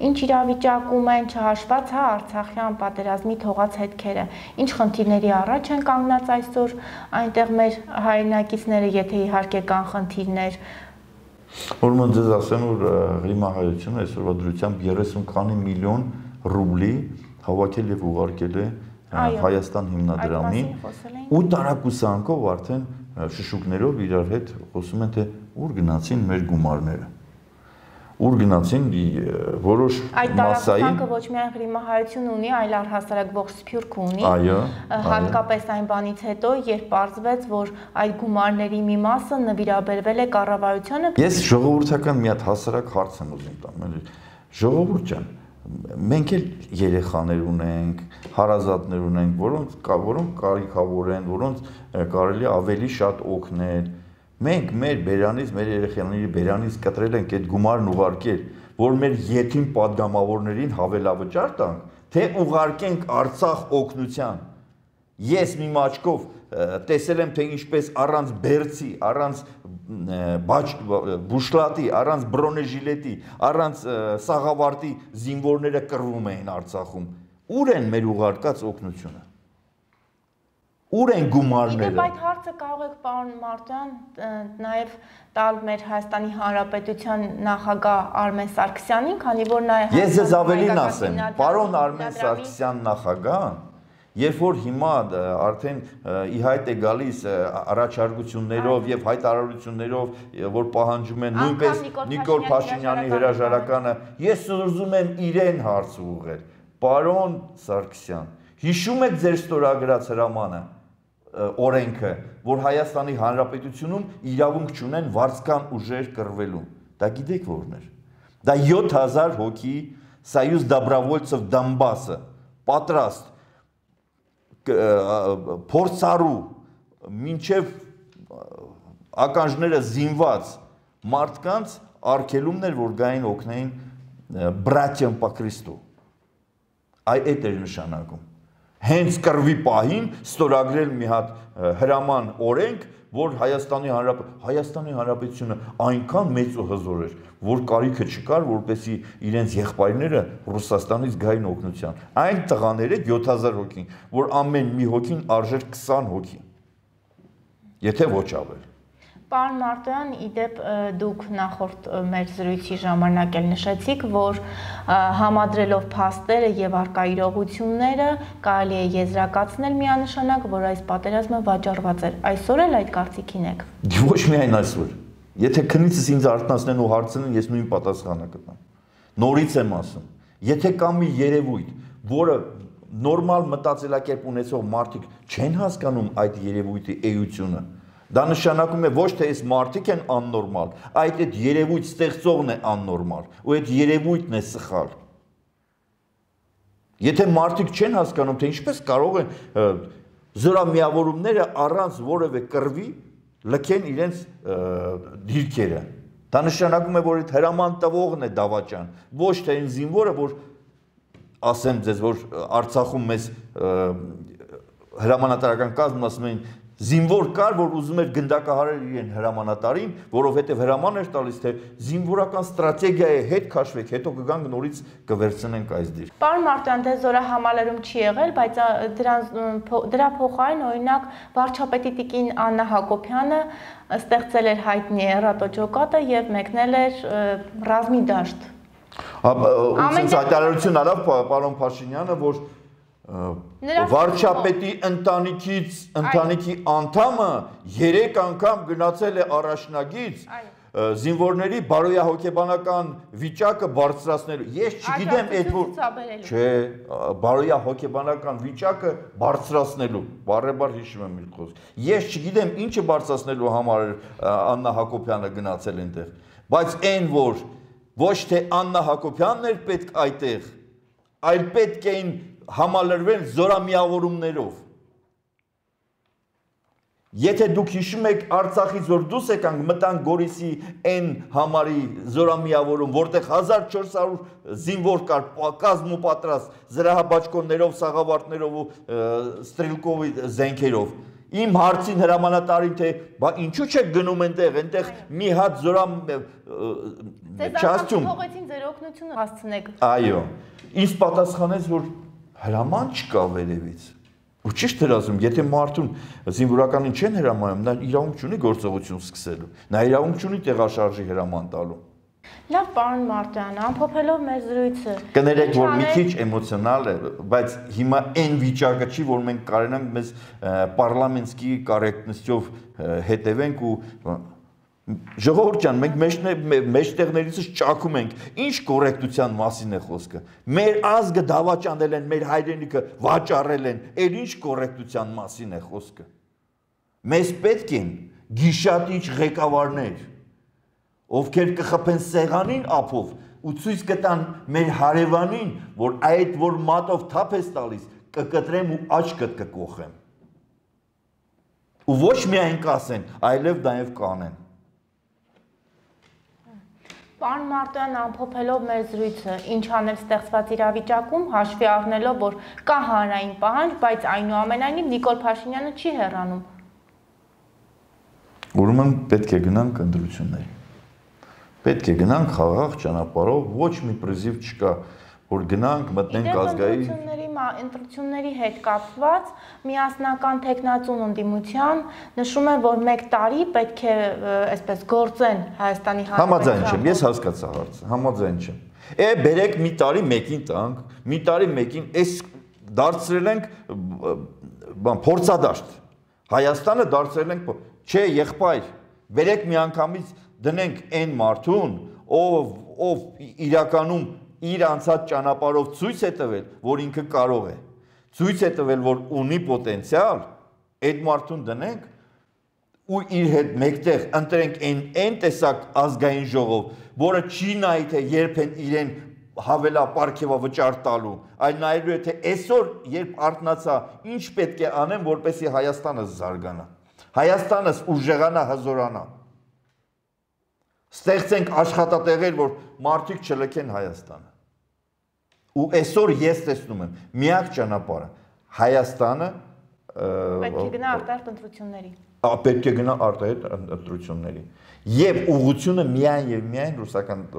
ինչ իրավիճակում են չհաշված Արցախյան պատերազմի թողած հետքերը, ինչ խնդիրների առաջ են կանգնած այսօր այնտեղ մեր հայրենակիցները, եթե իհարկե կան խնդիրներ։ Ուրեմն ձեզ ասեմ, որ Ղրիմահայությունը այսօրվա դրությամբ 30 քանի միլիոն ռուբլի հավաքել եւ ուղարկել է Հայաստան հիմնադրամին, ու տարակուսանքով արդեն շշուկներով իրար հետ խոսում են, թե ուր գնացին մեր գումարները։ Ուր գնացին որոշ այդ տարածքը ոչ միայն Ղրիմահայություն ունի, այլ առհասարակ ողջ Սփյուռք ունի։ Այո, հատկապես այն բանից հետո, երբ պարզվեց, որ այդ գումարների մի մասը նվիրաբերվել է կառավարությանը։ Ես ժողովրդական մի հատ հասարակ հարց եմ ուզում տամ, ժողովուրդ ջան, մենք էլ երեխաներ ունենք, հարազատներ ունենք, որոնք կարիքավոր են, որոնց կարելի ավելի շատ օգնել։ Մենք մեր բերանից, մեր երեխաների բերանից կտրել ենք այդ գումարն ուղարկել, որ մեր յեթին պատգամավորներին հավելավճար տանք, թե ուղարկենք Արցախ օգնության։ Ես մի մաչկով տեսել եմ, թե ինչպես առանց բերցի, առանց բուշլատի, առանց բրոնեժիլետի, առանց սաղավարտի զինվորները կռվում էին Արցախում։ Ուր են մեր ուղարկած օգնությունը։ Ուր են գումարները։ Իդեպ այդ հարցը կարող եք, պարոն Մարտիրոսյան, նաև տալ մեր Հայաստանի Հանրապետության նախագահ Արմեն Սարգսյանին, քանի որ նա է։ Ես ձեզ ավելին ասեմ, պարոն Արմեն Սարգսյան նախագահն, երբ որ հիմա արդեն ի հայտ է գալիս առաջարկություններով եւ հայտարարություններով, որ պահանջում են նույնպես Նիկոլ Փաշինյանի հրաժարականը, ես ուզում եմ իրեն հարց ուղղել։ Պարոն Սարգսյան, հիշում եք ձեր ստորագրած հրամանը, օրենքը, որ Հայաստանի Հանրապետությունում իրավունք չունեն վարձկան ուժեր կռվելու։ Դա գիտեք որն էր։ Դա 7000 հոգի Союз Добровольцев Դոնբասը պատրաստ փորձառու մինչև ականջները զինված մարդկանց արգելումներ, որ գային օգնեին բրատյան по Քրիստո։ Այդ էր նշանակում։ Հենց կռվի պահին ստորագրել մի հատ հրաման օրենք, որ Հայաստանի Հանրապետությունը այնքան մեծ ու հզոր էր, որ կարիքը չկար, որպեսզի իրենց եղբայրները Ռուսաստանից գային օգնության։ Այն տղաները 7000 հոգին, որ ամեն մի հոգին արժեր 20 հոգի։ Եթե ոչ ավել։ Պարոն Մարտիրոսյան, իդեպ դուք նախորդ մեր զրույցի ժամանակ էլ նշեցիք, որ համադրելով փաստերը եւ առկա իրողությունները կարելի է եզրակացնել միանշանակ, որ այս պատերազմը վաճառված էր։ Այսօր էլ այդ կարծիքին եք։ Ոչ միայն այսօր։ Եթե քնիցս ինձ արթնացնեն ու հարցնեն, ես նույն պատասխանը կտամ։ Նորից եմ ասում, եթե կա մի երևույթ, որը նորմալ մտածելակերպ ունեցող մարդիկ չեն հասկանում այդ երևույթի էությունը, դա նշանակում է ոչ թե այս մարդիկ են աննորմալ, այդ երևույթ ստեղծողն է աննորմալ, ու այդ երևույթն է սխալ։ Եթե մարդիկ չեն հասկանում, թե ինչպես կարող են զորամիավորումները առանց որևէ կռվի լքեն իրենց դիրքերը, դա նշանակում է, որ այդ հրաման տվողն է դավաճան, ոչ թե այն զինվորը, որ ասեմ ձեզ, որ Արցախում մեզ հրամանատարական կազմն ասում էին զինվոր կար, որ ուզում էր գնդակահարել իրեն հրամանատարին, որովհետև հրաման էր տալիս, թե զինվորական ստրատեգիա է, հետ քաշվեք, հետո կգանք նորից կվերցնենք այս դիրք։ Պարոն Մարտիրոսյան, դե զորահամալիրում չի եղել, բայց դրա փոխարեն օրինակ վարչապետի տիկին Աննա Հակոբյանը ստեղծել էր հայտնի ռատոճոկատը եւ մեկնել էր ռազմի դաշտ։ Ամեն հայտարարություն արավ պարոն Փաշինյանը, որ վարչապետի ընտանիքի անդամը 3 անգամ գնացել է առաջնագից զինվորների բարոյահոգեբանական վիճակը բարձրացնելու։ Ես չգիտեմ այդ որ չէ, բարոյահոգեբանական վիճակը բարձրացնելու, բարեբար հիշում եմ իր խոսքը։ Ես չգիտեմ ինչը բարձրացնելու համար Աննա Հակոբյանը գնացել այնտեղ, բայց այն որ ոչ թե Աննա Հակոբյանն էր պետք այդտեղ, այլ պետք էին համալրվել զորամիավորումներով։ Եթե դուք հիշում եք Արցախից որ դուրս եկանք, մտանք Գորիսի այն համարի զորամիավորում, որտեղ 1400 զինվոր կար, կազմ ու պատրաստ, զրահաբաճկոններով, սաղավարտներով ու ստրելկովի զենքերով։ Իմ հարցին հրամանատարին թե ինչու չեք գնում այնտեղ մի հատ չասում։ Փողոցին ձեր օգնությունը հասցնեք։ Այո, ինձ պատասխանեց որ հրաման չկա վերևից։ Ու ճիշտ էր ասում, եթե մարդուն զինվորականին չեն հրամայում, նա իրավունք չունի գործողություն սկսելու, նա իրավունք չունի տեղաշարժի հրաման տալու։ Լավ, պարոն Մարտոյան, ամփոփելով մեր զրույցը։ Կներեք, որ մի քիչ էմոցիոնալ է, բայց հիմա այն վիճակը չի, որ մենք կարենանք մեզ պարլամենտսկի կորեկտնությամբ հետևենք ու Ժողովուրդ ջան, մենք մեջտեղներից ճակում ենք, ինչ կորեկտության մասին է խոսքը։ Մեր ազգը դավաճանել են, մեր հայրենիքը վաճառել են, էլ ինչ կորեկտության մասին է խոսքը։ Մեզ պետք են գիշատիչ ղեկավարներ, ովքեր կխփեն սեղանին ափով ու ցույց կտան մեր հարևանին, որ այդ որ մատով թափ ես տալիս, կկտրեմ ու աչքդ կկոխեմ։ Ու ոչ միայն կասեն, այլև նաև կանեն։ Պարոն Մարտոյան, ամփոփելով մեր զրույցը, ինչ անել ստեղծված իրավիճակում, հաշվի առնելով, որ կա հանրային պահանջ, բայց այնուամենայնիվ Նիկոլ Փաշինյանը չի հեռանում։ Ուրեմն պետք է գնանք ընտրությունների։ Պետք է գնանք խաղաղ ճանապարհով, ոչ մի պրիզիվ չկա, որ գնանք մտնենք ազգային ընտրությունների հետ կապված միասնական տեխնացուն ընդդիմության նշում է, որ 1 տարի պետք է այսպես գործեն Հայաստանի Համաձայն չեմ, ես հասկացա հարցը, համաձայն չեմ։ Բերեք մի տարի մեկին տանք, մի տարի մեկին, այս դարձրել ենք փորձադաշտ։ Հայաստանը դարձրել ենք, չէ, եղբայր, բերեք մի անգամից դնենք այն մարդուն, ով իրականում իր անցած ճանապարհով ցույց է տվել, որ ինքը կարող է, ցույց է տվել, որ ունի պոտենցիալ, այդ մարդուն դնենք ու իր հետ մեկտեղ ընտրենք այն տեսակ ազգային ժողով, որը չի նայի թե երբ են իրեն հավելապարգևավճար տալու, այլ նայելու է թե այսօր երբ արթնացա, ինչ պետք է անեմ, որպեսզի Հայաստանը զարգանա, Հայաստանս ուժեղանա, հզորանա։ Ստեղծենք աշխատատեղեր, որ մարդիկ չլքեն Հայաստանը։ Ու այսօր ես տեսնում եմ միակ ճանապարհը Հայաստանը պետք է գնա արտահերթ ընտրությունների։ Պետք է գնա արտահերթ ընտրությունների։ Եվ ուղղությունը միայն եւ միայն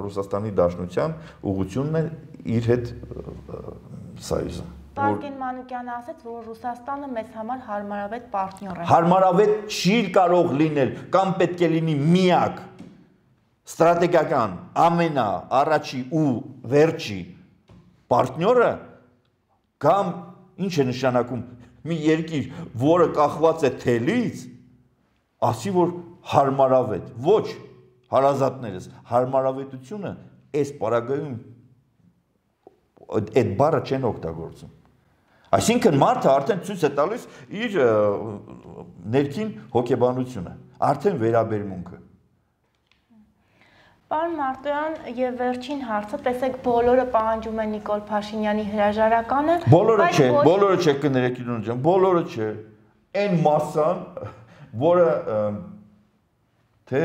Ռուսաստանի Դաշնության ուղղությունն է իր հետ սայզը։ Վարդգեն Մանուկյանը ասաց, որ Ռուսաստանը մեզ համար հարմարավետ պարտներ է։ Հարմարավետ չի կարող լինել կամ պետք է լինի միակ ստրատեգիական ամենաառաջի ու վերջի պարտները կամ ինչ է նշանակում մի երկիր, որը կախված է թելից, ասի որ հարմարավետ, ոչ հարազատներս, հարմարավետությունը այս պարագայում այդ բառը չեն օգտագործում։ Այսինքն մարդը արդեն ցույց է տալիս իր ներքին հոգեբանությունը, արդեն վերաբերմունքը։ Պարոն Մարտոյան, եւ վերջին հարցը, տեսեք, բոլորը պահանջում են Նիկոլ Փաշինյանի հրաժարականը։ Բոլորը չէ, կներեք իրոն ջան, բոլորը չէ։ Այն մասսան, որը թե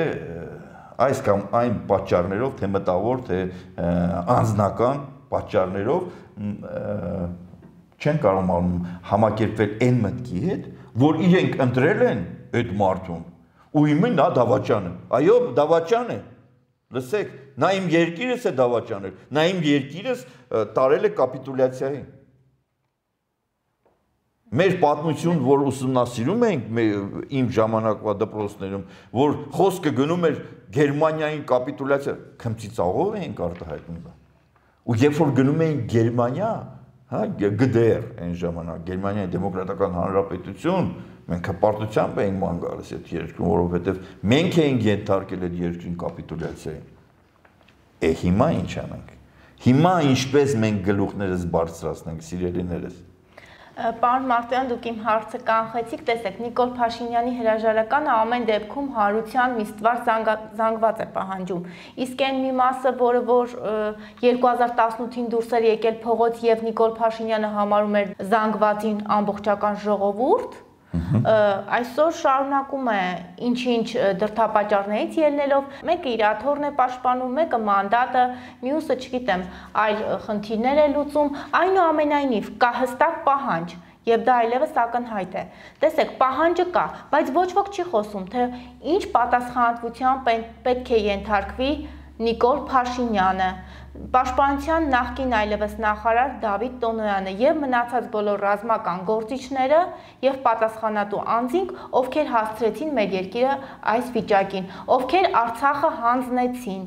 այս կամ այն պատճառներով, թե մտավոր, թե անձնական պատճառներով չեն կարող համակերպվել այն մտքի հետ, որ իրենք ընտրել են այդ մարդուն, ու իմը նա դավաճան է։ Այո, դավաճան է։ Լսեք, նա իմ երկիրս է դավաճանել, նա իմ երկիրս տարել է կապիտուլյացիայի։ Մեր պատմություն, որ ուսումնասիրում ենք իմ ժամանակվա դպրոցներում, որ խոսքը գնում էր Գերմանիային կապիտուլյացիա, քմծիծաղով էինք արտահայտում։ Ու երբ որ գնում էինք Գերմանիա, հա, GDR այն ժամանակ Գերմանիայի դեմոկրատական հանրապետություն, մենք հպարտությամբ էինք ման գալիս այդ երկրում, որովհետև մենք էինք ենթարկել այդ երկրին կապիտուլյացիային։ Հիմա ինչ անենք։ Հիմա ինչպես մենք գլուխներս բարձրացնենք, սիրելիներս։ Պարոն Մարտոյան, դուք իմ հարցը կանխեցիք, տեսեք, Նիկոլ Փաշինյանի հրաժարականը ամեն դեպքում հարության մի ստվար զանգված է պահանջում։ Իսկ այն մի մասը, որը որ 2018-ին դուրս էր եկել փողոց եւ Նիկոլ Փաշինյանը համարում էր զանգվածին ամբողջական ժողովուրդ, այսօր շարունակում է ինչ-ինչ դրդապատճառներից ելնելով, մեկը իր աթոռն է պաշտպանում, մեկը մանդատը, մյուսը, չգիտեմ, այլ խնդիրներ է լուծում, այնուամենայնիվ կա հստակ պահանջ, եւ դա այլևս ակնհայտ է։ Տեսեք, պահանջը կա, բայց ոչ ոք չի խոսում, թե ինչ պատասխանատվության պետք է ենթարկվի Նիկոլ Փաշինյանը, Պաշտպանության նախկին այլևս նախարար Դավիթ Տոնոյանը եւ մնացած բոլոր ռազմական գործիչները եւ պատասխանատու անձինք, ովքեր հասցրեցին մեր երկիրը այս վիճակին, ովքեր Արցախը հանձնեցին,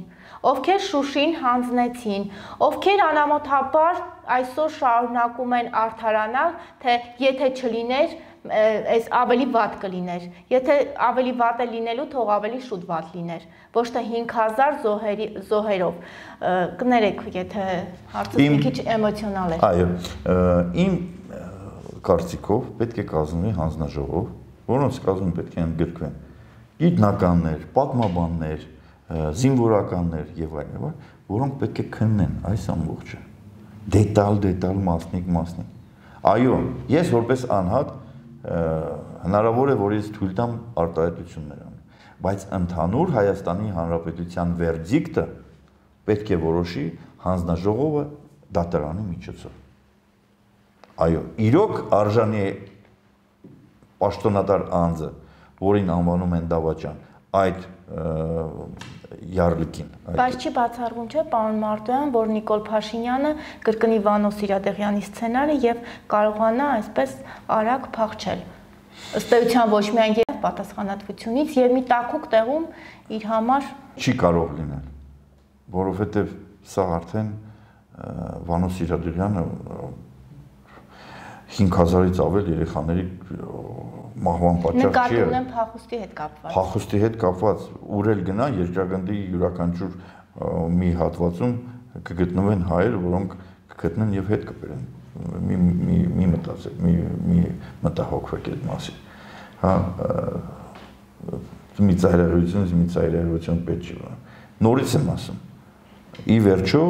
ովքեր Շուշին հանձնեցին, ովքեր անամոթաբար այսօր շարունակում են արդարանալ, թե եթե չլիներ, այս ավելի վատ կլիներ, եթե ավելի վատ է լինելու, թող ավելի շուտ վատ լիներ, ոչ թե 5000 զոհերով, կներեք, եթե հարցը մի քիչ էմոցիոնալ է։ Այո, իմ կարծիքով պետք է կազմվի հանձնաժողով, որոնց կազմում պետք է ընդգրկվեն գիտնականներ, պատմաբաններ, զինվորականներ եւ այլն, որոնք պետք է քննեն այս ամբողջը, դետալ մասնիկ։ Այո, ես որպես անհատ հնարավոր է, որ ես թույլ տամ արտահայտություններ անեմ, բայց ընդհանուր Հայաստանի Հանրապետության վերդիկտը պետք է որոշի հանձնաժողովը դատարանի միջոցով։ Այո, իրոք արժանի է պաշտոնատար անձը, որին անվանում են դավաճան, այդ յարլիկին։ Բայց չի բացառվում, չէ, պարոն Մարտոյան, որ Նիկոլ Փաշինյանը կրկնի Վանո Սիրադեղյանի սցենարը եւ կարողանա այսպես արագ փախչել։ Ըստ էության ոչ միայն եւ պատասխանատվությունից եւ մի տակուկ տեղում իր համար չի կարող լինել, որովհետեւ սա արդեն Վանո Սիրադեղյանը 5000-ից ավել երեխաների մահվան պատճառ չի։ Նկատի ունեմ փախուստի հետ կապված։ Փախուստի հետ կապված ուր գնա երկրագնդի յուրաքանչյուր մի հատվածում կգտնվեն հայեր, որոնք կգտնեն եւ հետ կբերեն։ Մի մտածեք, մի մտահոգվեք այդ մասին։ Հա, մի ծայրահեղություն պետք չի։ Նորից եմ ասում։ Ի վերջո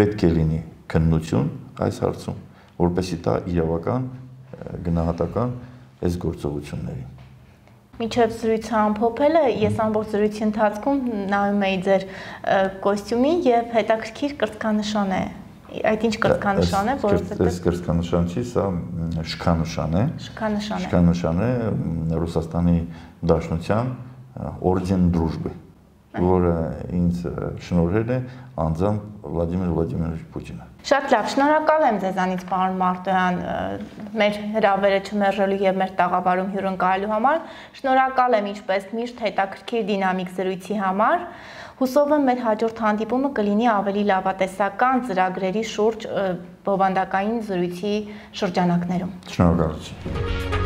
պետք է լինի քննություն այս հարցում, որպեսզի դա իրավական գնահատական այս գործողություններին։ Մինչև զրույցը ամփոփելը, ես ամբողջ զրույցի ընթացքում նայում էի ձեր կոստյումին եւ հետաքրքիր կրծքանշան է։ Այդ ինչ կրծքանշան է, որովհետեւ այս կրծքանշան չի, սա շքանշան է։ Շքանշան է Ռուսաստանի Դաշնության օրդեն դրուժբы, որը ինձ շնորհել է անձամբ Վլադիմիր Վլադիմիրովիչ Պուտինը։ Շատ լավ, շնորհակալ եմ ձեզանից, պարոն Մարտոյան, մեր հրավերը չմերժելու եւ մեր տաղավարում հյուրընկալելու համար։ Շնորհակալ եմ ինչպես միշտ հետաքրքիր դինամիկ զրույցի համար։ Հուսով եմ մեր հաջորդ հանդիպումը կլինի ավելի լավատեսական ծրագրերի շուրջ բովանդակային զրույցի շրջանակներում։ Շնորհակալություն։